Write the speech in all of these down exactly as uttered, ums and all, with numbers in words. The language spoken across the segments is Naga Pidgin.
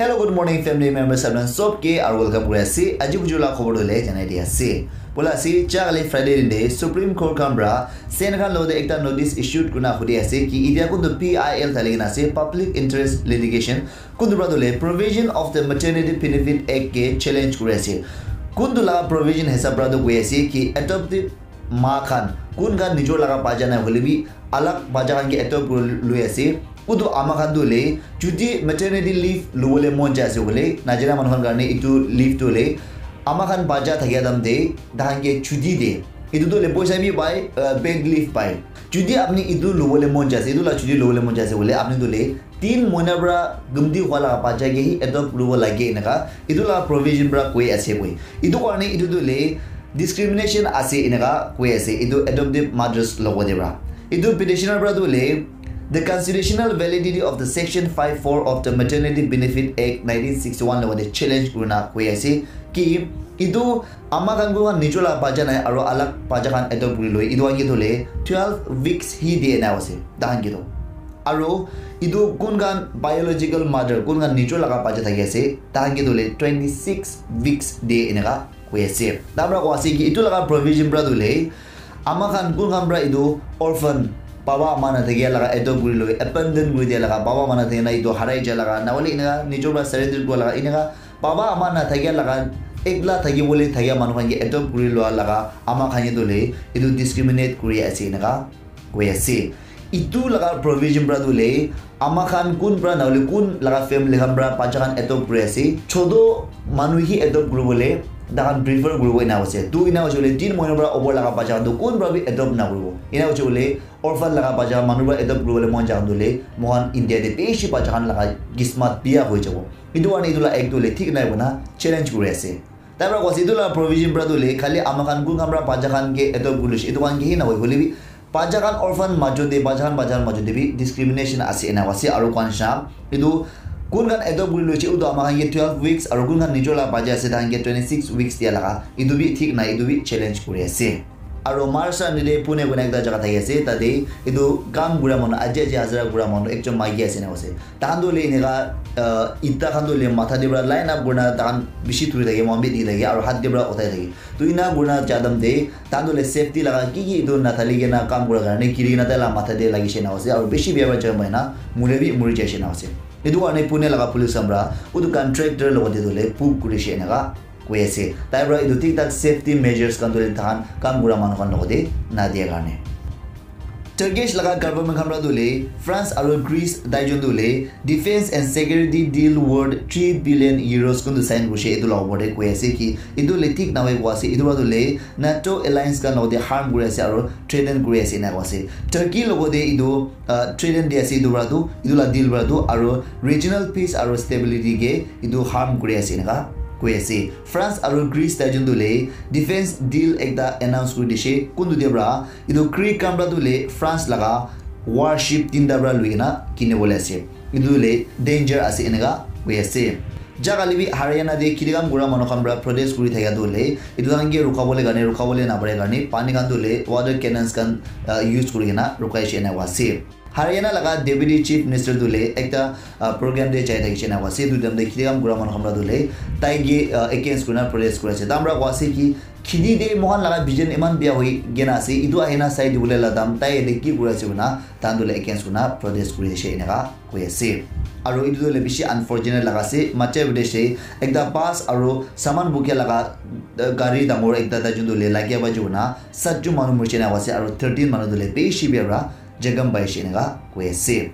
Hello, good morning, family members, everyone. Sob ke aru welcome kuri ase. Aji buju la khobor dole janai di ase. Bola ase, ja kali Friday din de Supreme Court khan pra Sen khan lode ekta notice issued kuna hudi ase ki idia kuntu P I L thali kena ase, Public Interest Litigation, kuntu pra dole Provision of the Maternity Benefit Act ke challenge kuri ase. Kuntu la provision hisab pra do koi ase ki adoptive ma khan, kun khan nijor laga bacha nai hoile bi alag bacha khan ke adopt kuri lui ase, utu ama khan tu le jodi maternity leave lubole mon jai ase koile, najana manu khan karne itu leave tu le ama khan bacha thakia time te tahan ke chuti de, itu tu le poisa bi pai, uh, paid leave pai. Jodi apni itu lubole mon jai ase, itu la chuti lubole mon jai ase koile, apni tu le tin moina pra gumti hua laga bacha ke hi adopt kuribo lage enaka itu la provision pra koi ase koi. Itu karne itu tu le discrimination ase enaka koi ase itu adoptive mothers logo de pra. Itu petitioner pra tu le the constitutional validity of the Section five four of the Maternity Benefit Act nineteen sixty-one logo de challenge kurina koi ase ki itu ama khan ko nijor la bacha nai aro alag bacha khan adopt kuri loi itu angi tu le twelve weeks hi de na ase tahan ki to. Aro itu kun khan biological mother, kun khan nijor laga bacha thaki ase, tahan ke dole twenty six weeks de enaka koi ase. Tamra ko ase ki itu laga provision pra dole ama khan kun khan pra itu orphan, baba ama na thakia laga adopt kuri loi, abandon kuri dia laga, baba ama na thakia na itu harai ja laga, na hole enaka nijor pra surrender kura laga, enaka baba ama na thakia laga, ekla thaki bole thakia manu khan ke adopt kuri lua laga ama khan ke dole itu discriminate kuri ase enaka koi ase. Itu laga provision pra tu le ama khan kun pra na hole kun laga family khan pra bacha khan adopt kuri ase, chodo manu hi adopt kuri bole tahan prefer kuri bo ena ase. Tu ena ase bole tin moina pra over laga bacha khan tu kun pra bi adopt na kuri bo. Ena ase bole orphan laga bacha manu pra adopt kuri bole mon jai khan tu le mohan India de bishi bacha khan laga kismat biya hoi jabo. Itu karne itu la act tu le thik nai bona challenge kuri ase. Tar pra koise itu la provision pra tu le khali ama khan kun khan pra bacha khan ke adopt kuri loi, itu khan ke hi na hoi hole bi bacha khan orphan majo de, bacha khan bacha khan majo de bi discrimination ase ena ase. Aro kwan sha itu kun khan adopt kuri loise utu ama khan ke twelve weeks aro kun khan nijor la bacha ase tahan ke twenty six weeks dia laga itu bi thik nai, itu bi challenge kuri ase. Aro Maharashtra nide Pune kona ekta jaga thaki ase, tate itu kam kura manu, aji aji hazara kura manu ekjon maiki ase ena ase. Tahan tu le eneka, uh, ita khan tu le matha de pra line up kurina tahan bishi thuri thake, mohan bi dikhi thake, aro hat de pra uthai thake. Tu ena kurina jadam de, tahan tu le safety laga ki ki itu nathali kena kam kura karne, giri kena taila matha de lagi she ena ase, aro bishi bia pra jam hoina, mure bi muri jai she ena ase. Itu karne Pune laga police khan pra, utu contractor logote tu le book kuri she eneka koi ase. Tai pra itu thik thak safety measures khan tu le tahan kam kura manu khan logote na dia karne. Turkish laga government khan pra tu le France aro Greece tai jun tu le defense and security deal worth three billion euros kuntu sign kurishe, itu la opor te koi ase ki itu le thik nahoi koi ase, itu pra tu le NATO alliance khan logote harm kuri ase aro threaten kuri ase ena koi ase. Turkey logote itu, uh, threaten di ase itu pra tu, itu la deal pra tu, aro regional peace aro stability ke itu harm kuri ase eneka koi ase. France aro Greece tai jun tu le defense deal ekta announce kuri dishe, kuntu dia pra itu Greek khan pra tu le France laga warship tinta pra lui kena kini bole ase. Itu le danger ase eneka koi ase. Ja kali bi Haryana de khiti kam kura manu khan pra protest kuri thakia tu le itu khan ke rukha bole karne, rukha bole na pare karne pani khan tu le water cannons khan, uh, use kuri kena rukai she ena koi ase. Haryana laga deputy chief minister tu le ekta, uh, program de jai thakishe ena koi ase. Itu time de khiti kam kura manu khan pra tu le tai ke, uh, against kurina protest kuri ase. Tamra koi ase ki khiti de mohan laga vision iman bia hoi kena ase, itu ahina sai dibole la dam tai yate ki kuri ase koina tahan tu le against kurina protest kuri ase eneka koi ase. Aro itu tu le bishi unfortunate laga ase, Madhya Pradesh te ekta bus aro saman bukia laga, uh, gari dangor ekta tai jun tu le lagia pai jai koina sat jun manu murishe ena koi ase, aro thirteen manu tu le bishi bia pra jakham paishe eneka koi ase.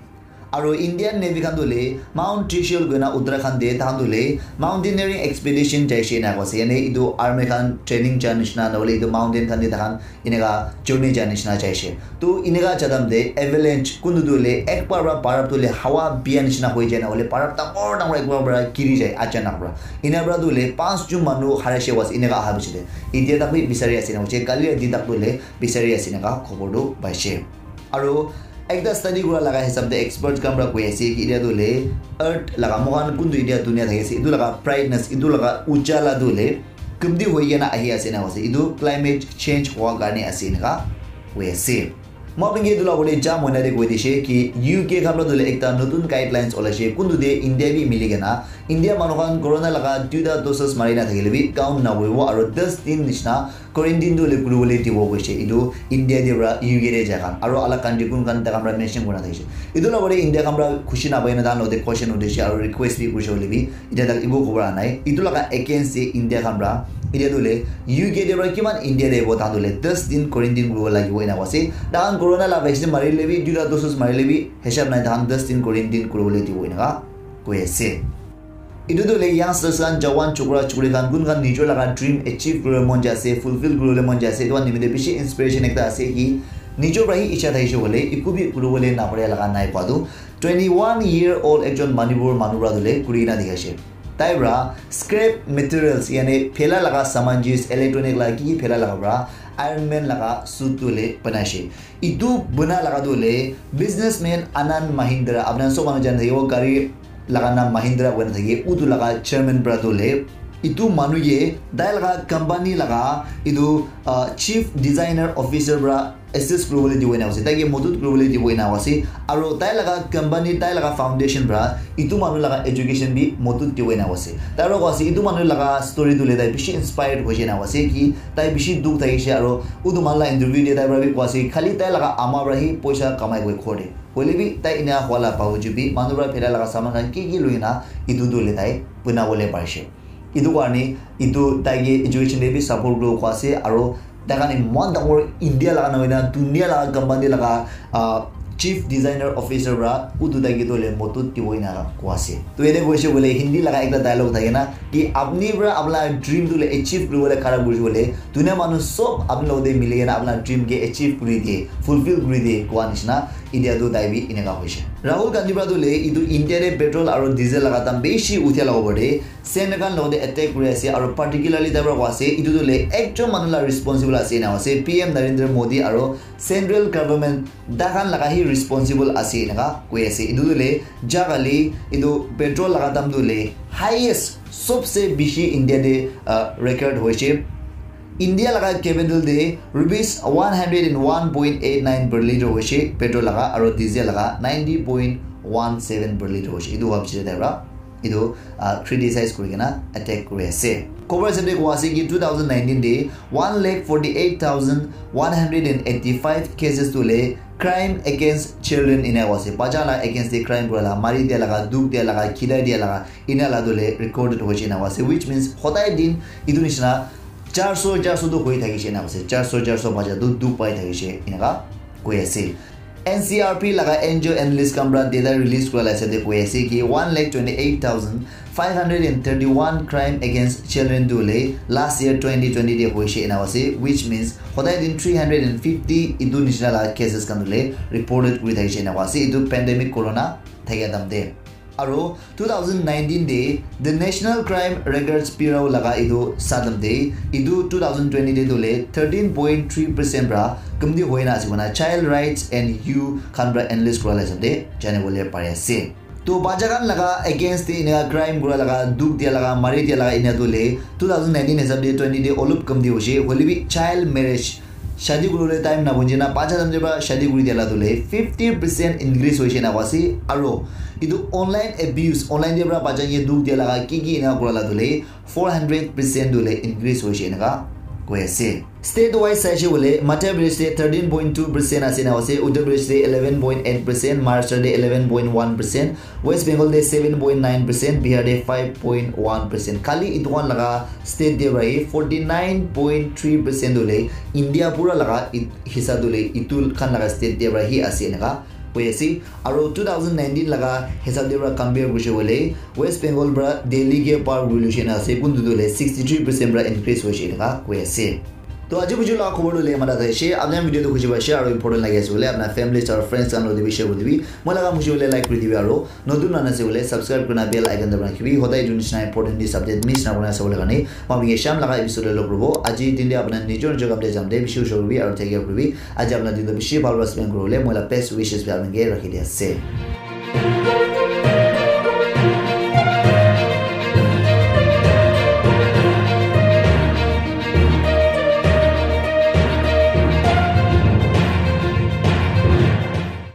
Aro Indian Navy khan tu le Mount Trishul koina Uttarakhand de tahan tu le mountaineering expedition jaishe ena koi ase. Yane itu army khan training ja nishina, na hole itu mountain khan de tahan eneka journey ja nishina jaishe. Tu eneka ja time de avalanche kuntu tu le ek bar pra barap tu le hawa bia nishina hoi jai, na hole barap dangor dangor ek bar pra giri jai achanak pra. Ena pra tu le panch jun manu harishe koi ase eneka aha piche de. Itia tak bi bisari ase na hoise, kali rati tak tu le bisari ase eneka khobor tu paishe. Aro ekta study kura laga hisab de expert khan pra koi ase ki itia tu le earth laga mohan kuntu itia dunia thaki ase, itu laga brightness, itu laga ujala tu le kumti hoi kena ahi ase ena koi ase. Itu climate change hua karne ase eneka koi ase. Moi apni ke etu la bole ja moina de koi dishe ki U K khan pra dole ekta notun guidelines ola she kuntu de India bi mili kena India manu khan corona laga duita doses mari na thakile bi count na hoibo aro das din nishina quarantine tu le kuri bole dibo koishe. Etu India de pra U K de ja khan aro alak country kun khan takhan pra mention kurina thakishe. Etu la bole India khan pra khushi na pai na dan lo de question uthi she aro request bi kurishe bole bi Etia tak ibu khobor anai. Itu laga against te India khan pra etia tu le U K te pra kiman India te bo tahan tu le das din quarantine kuribo lagibo ena koise. Tahan corona la vaccine mari le bi, duita doses mari le bi, hisab nai tahan das din quarantine kuribo le dibo ena ka koi ase. Itu tu le youngsters khan, jawan chokra chokri khan, kun khan nijor laga dream achieve kuribo mon jai ase, fulfill kuribo le mon jai ase. Itu khan nimite bishi inspiration ekta ase ki nijor pra hi icha thakishe bole, iku bi kuribo le napare laga nai pa tu. Twenty-one year old ekjon Manipur manu pra tu le kuri kena dikhi ase. Tai pra scrap materials, yani phela laga saman jis, electronic laga ki ki phela laga pra Iron Man laga suit tu le banai ase. Itu bana laga tu le businessman Anand Mahindra, apna sob manu jan thakibo, gari laga naam Mahindra koina thake, utu laga chairman pra tu le itu manu ye tai laga company laga itu, ah, chief designer officer pra assist kuribole dibo ena ase, taike modot kuribole dibo ena ase. Aro tai laga company, tai laga foundation pra itu manu laga education bi modot dibo ena ase. Tai pra koa ase, itu manu laga story tu le tai bishi inspired hoise ena ase ki tai bishi dukh thakishe aro utu manu la interview de tai pra bi koa ase, khali tai laga ama pra hi poisa kamai koi ghor de. Hoile bi tai ena hwa la baujud bi manu pra phela laga saman khan ki ki loi na itu tu le tai bana bole parishe. Itu karne itu tai ke education te bi support kuribo koa ase aro tai khan eman dangor India laga nahoi na dunia laga company laga, ah, chief designer officer pra utu tai ke tu le modot dibo ena koa ase. To ene koise bole Hindi laga ekta dialogue thake na ki apni pra apna dream tu le achieve kuribo le khara kuri bole dunia manu sob apni logote mili kena apna dream ke achieve kuri diye, fulfill kuri diye koa nishina etia tu tai bi eneka hoise. Rahul Gandhi pra tu le itu India te petrol aro diesel laga dam bishi uthia laga opor te Senator khan logote attack kuri ase aro particularly tai pra koa ase itu tu le ekjon manu la responsible ase ena ase, P M Narendra Modi aro central government tai khan laga hi responsible ase eneka koi ase. Itu tu le jagali itu petrol laga dam tu le highest sobse bishi India te, ah, record hoise. India laga capital te rupees one hundred and one point eight nine per liter hoise petrol laga aro diesel laga ninety point one seven per liter hoise. Itu wabjire tai pra itu, ah, criticize kuri kena attack kuri ase. Khobor hisab te koa ase ki two thousand nineteen te one lakh forty eight thousand one hundred and eighty five cases tu le crime against children ena koa ase. Bacha la against te crime kura la, mari dia laga, dukh dia laga, khidai dia laga, ena la tu le recorded hoise ena koa ase. Which means hodai din itu nishina charso, charso tu hoi thakishe ena koa ase. Charso, charso bacha tu dukh pai thakishe ena ka koi ase. N C R P laga N G O analyst khan pra data release kura la hisab te koi ase ki one lakh twenty eight thousand five hundred and thirty one crime against children tu le last year twenty twenty te hoise ena ase, which means hodai din three hundred and fifty itu nishina laga cases khan tu le reported kuri thakishe ena ase itu pandemic corona thakia time te. Aro two thousand nineteen te the National Crime Records Bureau laga itu sadam te itu two thousand twenty te tu le thirteen point three percent pra kamti hoina ase koina child rights and youth khan pra analyst kura la hisab te jani bole pari ase. To bacha khan laga against te ena crime kura laga, dukh dia laga, mari dia laga ena tu le two thousand nineteen hisab te twenty te olop kamti hoise, hoile bi child marriage, shadi kuribole time na bunji na bacha time te pra shadi kuri dia la tu le fifty percent increase hoise na koa ase. Aro itu online abuse, online te pra bacha ke dukh dia laga ki ki ena kura la tu le four hundred percent tu le increase hoise eneka koi ase. State wise saishe bole Madhya Pradesh te thirteen point two percent ase na ase, Uttar Pradesh te eleven point eight percent, Maharashtra te eleven point one percent, West Bengal te seven point nine percent, Bihar te five point one percent. Khali itu khan laga state te pra hi forty nine point three percent tu le India pura laga it- hisab tu le itu khan laga state te pra hi ase eneka koi ase. Aro two thousand nineteen laga hisab te pra compare kurishe bole West Bengal pra Delhi ke par kuri luishe na ase, kuntu tu le sixty three percent pra increase hoishe eneka koi ase. To aji buju laga khobor tu le mata thaishe, apni khan video tu khushi paishe aro important lagi ase bole apna families aro friends khan logote bi share kuri dibi. Moi laga khushi hoile like kuri dibi aro notun nana ase bole subscribe kurina bell icon dabai rakhibi. Hodai etu nishina important news update miss na kurina sabole karne. Moi apni ke sham laga episode te log kuribo. Aji din te apna nijor nijor kam te jam te bishi ushor kuribi aro take care kuribi. Aji apna din tu bishi bhal para spend kuribole moi la best wishes bi apni ke rakhi di ase.